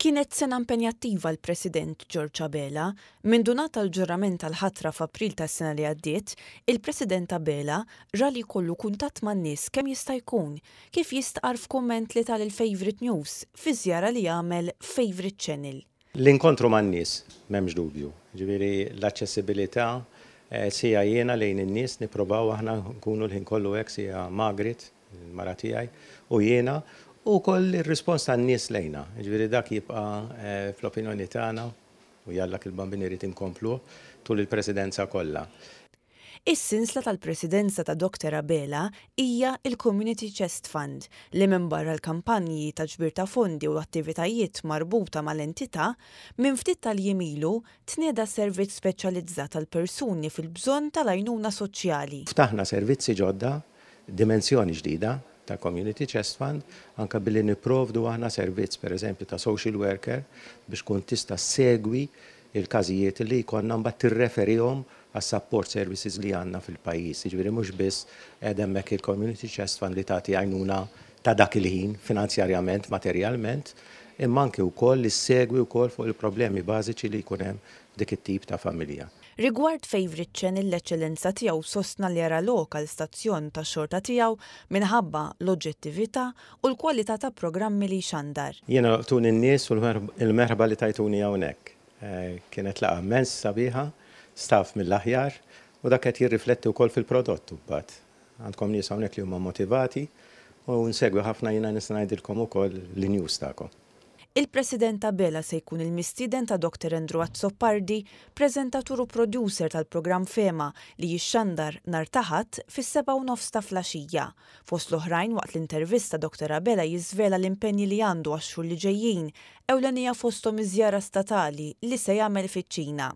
Kienet sena impenjattiva għall-President George Abela. Mindu ngħata l-ġurament tal-ħatra f'April tas-sena li għaddiet, il-President Abela ra li jkollu kuntatt man-nies kemm jista' jkun, kif jistqarr f'kumment li ta lil Favourite News fi żjara li għamel f'Favourite Channel. L-inkontru man-nies, m'hemmx dubju. Jiġifieri l-aċċessibilità sija jiena lejn in-nies nipprovaw aħna nkunu l-ħin kollu hekk sija Margaret, il-mara tiegħi, u jiena, u wkoll ir-rispons tan-nies lejna. Jiġifieri dak jibqa' fl-opinjoni tagħna, u jalla il-Bambin irid inkompluh tul il-presidenza kollha. Is-sinsla tal-presidenza ta' Doctor Abela hija l-Community Chest Fund li minbarra l-kampanji ta' ġbir ta' fondi u attivitajiet marbuta mal-entità, minn ftit tal-jiem ilu tnieda servizz speċjalizzat għal persuni fil-bżonn tal-għajnuna soċjali. Ftaħna servizzi ġodda dimensjoni ġdida tal-Community Chest Fund, anke billi nipprovdu aħna servizz pereżempju ta' social worker biex tkun tista' ssegwi l-każijiet li jkollna mbagħad tirreferihom għas-support services li għandna fil-pajjiż. Jiġifieri mhux biss qiegħda hemmhekk il-Community Chest Fund li tagħti għajnuna ta' dak il-ħin finanzjarjament, materjalment, imma anke wkoll li ssegwi wkoll fuq il-problemi bażiċi li jkun hemm f'dik it-tip ta' familja. Rigward Favourite Channel l-Eċċellenza Tiegħu sostna li jara lok għal stazzjon tax-xorta tiegħu minħabba l-oġġettività u l-kwalità ta' programmi li jxandar. Jiena laqtuni n-nies u l-merħba li tajtuni hawnhekk. Kienet laqgħa immens sabiħa, staff mill-aħjar u dak qed jirrifletti wkoll fil-prodott imbagħad. Għandkom nies hawnhekk li huma motivati u nsegwi ħafna jiena nista' ngħidilkom ukoll l-news tagħkom. Il-President Abela se jkun il-mistieden ta' Doctor Andrew Azzopardi, preżentatur u producer tal-programm Fehma li jixxandar nhar ta' Ħadd fis-sebgħa u nofs ta' flaxija. Fost l-oħrajn waqt l-intervista Doctor Abela jiżvela l-impenji li għandu għax-xhur li ġejjin, ewlenija fosthom iż-żjara statali li se jagħmel fiċ-Ċina.